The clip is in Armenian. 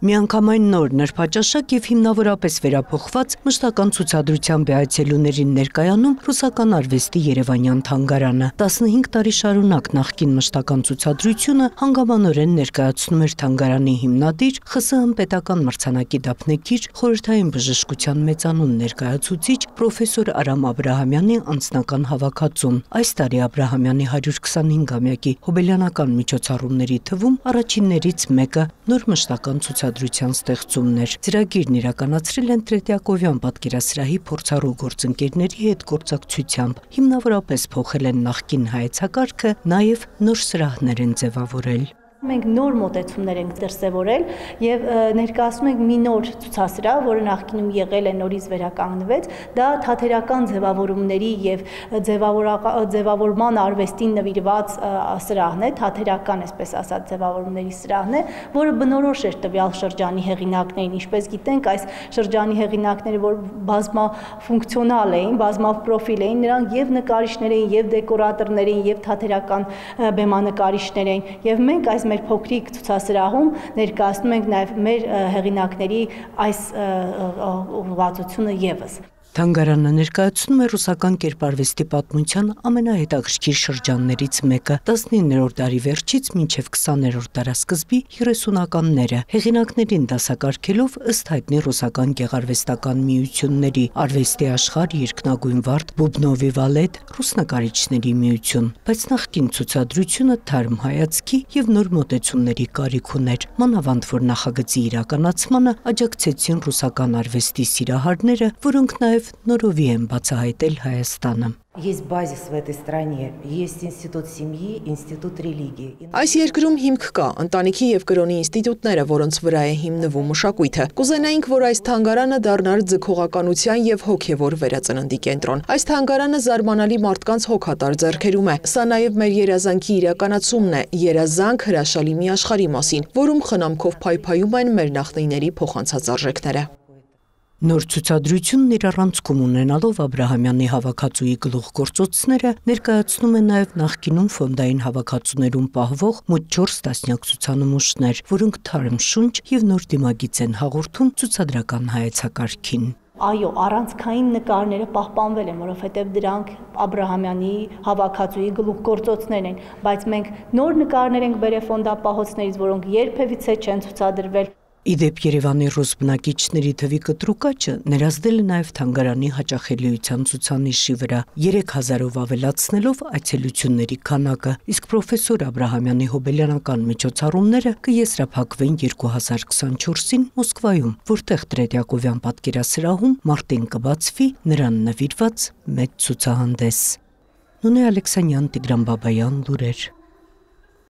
Միանգամայն նոր նրբաճաշակ եւ հիմնավորապես վերափոխված մշտական ցուցադրությամբ է այցելուներին ներկայանում ռուսական արվեստի Երևանյան թանգարանը։ 15 տարի շարունակ նախկին մշտական ցուցադրությունը հանգամանորեն ներկայացնում էր թանգարանի հիմնադիր ԽՍՀՄ պետական մրցանակի դափնեկիր խորհրդային բժշկության մեծանուն ներկայացուցիչ պրոֆեսոր Արամ Աբրահամյանի անձնական հավաքածուն։ Այս տարի Աբրահամյանի 125-ամյակի հոբելյանական միջոցառումների թվում առաջիններից մեկը նոր մշտական ցուցադրության ստեղծումն էր։ Ծրագիրն իրականացրել են Տրետյակովյան պատկերասրահի փորձառու գործընկերների հետ գործակցությամբ։ Հիմնավորապես փոխել են նախկին հայեցակարգը, նաև նոր սրահներ են ձևավորել։ Մենք նոր մոտեցումներ ենք դրսևորել եւ ներկայացնում ենք մի նոր ցուցասրահ, որը նախկինում եղել է նորից վերականգնվեց, դա թատերական ձևավորումների եւ ձևավորման արվեստին նվիրված սրահն է, թատերական, այսպես ասած, ձևավորումների սրահն է, որը բնորոշ էր տվյալ շրջանի հեղինակներին, ինչպես գիտենք, այս շրջանի հեղինակները, որ բազմաֆունկցիոնալ էին, բազմապրոֆիլ էին, նրանք եւ նկարիչներ էին, եւ դեկորատորներ էին, եւ թատերական բեմանկարիչներ էին, եւ մենք այս մեր փոքրիկ ցուցասրահում ներկայացնում ենք նաև մեր հեղինակների այս ուղղվածությունը եւս։ Թանգարանը ներկայացնում է ռուսական կերպարվեստի պատմության ամենահետաքրքիր շրջաններից մեկը 19-րդ դարի վերջից մինչև 20-րդ դարասկզբի 30-ականները, հեղինակներին դասակարգելով ըստ հայտնի ռուսական գեղարվեստական միությունների, արվեստի աշխարհ, երկնագույն վարդ, բուբնովի վալետ, ռուս նկարիչների միություն, բայց նախկին ցուցադրությունը թարմ հայացքի եւ նոր մոտեցումների կարիք уներ, մանավանդ որ նախագծի իրականացմանը աջակցեցին ռուսական արվեստի սիրահարները, որոնք նաև նորովի են բացահայտել Հայաստանը։ Есть базис в этой стране, есть институт семьи, институт религии. Այս երկրում հիմք կա, ընտանիքի եւ կրոնի ինստիտուտները, որոնց վրա է հիմնվում մշակույթը։ Կուզենայինք, որ այս թանգարանը դառնար ձգողականության եւ հոգեվոր վերածննդի կենտրոն։ Այս թանգարանը զարմանալի մարդկանց հոգատար ձեռքերում է։ Սա նաեւ մեր երազանքի իրականացումն է, երազանք հրաշալի մի աշխարհի մասին, որում խնամքով փայփայում են մեր նախնիների փոխանցած արժեքները։ Նոր ցուցադրությունն իր առանցքում ունենալով Աբրահամյանի հավաքածուի գլուխգործոցները ներկայացնում է նաև նախկինում ֆոնդային հավաքածուներում պահվող մոտ 4 տասնյակ ցուցանմուշներ, որոնք թարմ շունչ եւ նոր դիմագիծ են հաղորդում ցուցադրական հայեցակարգին։ Այո, առանցքային նկարները պահպանվել են, որովհետև դրանք Աբրահամյանի հավաքածուի գլուխգործոցներն են, բայց մենք նոր նկարներ ենք բերել ֆոնդապահոցներից, որոնք երբևիցե չեն ցուցադրվել։ Իդեպ Երևանի ռուս բնակիչների թվի կտրուկ աճը ներազդել է նաև թանգարանի հաճախելիության ցուցանիշի վրա 3000-ով ավելացնելով այցելությունների քանակը, իսկ պրոֆեսոր Աբրահամյանի հոբելյանական միջոցառումները կեզրափակվեն 2024-ին Մոսկվայում, որտեղ Տրետյակովյան պատկերասրահում մարտին կբացվի նրան նվիրված մեծ ցուցահանդես։ Նունե Ալեքսանյան, Տիգրան Բաբայան, լուրեր։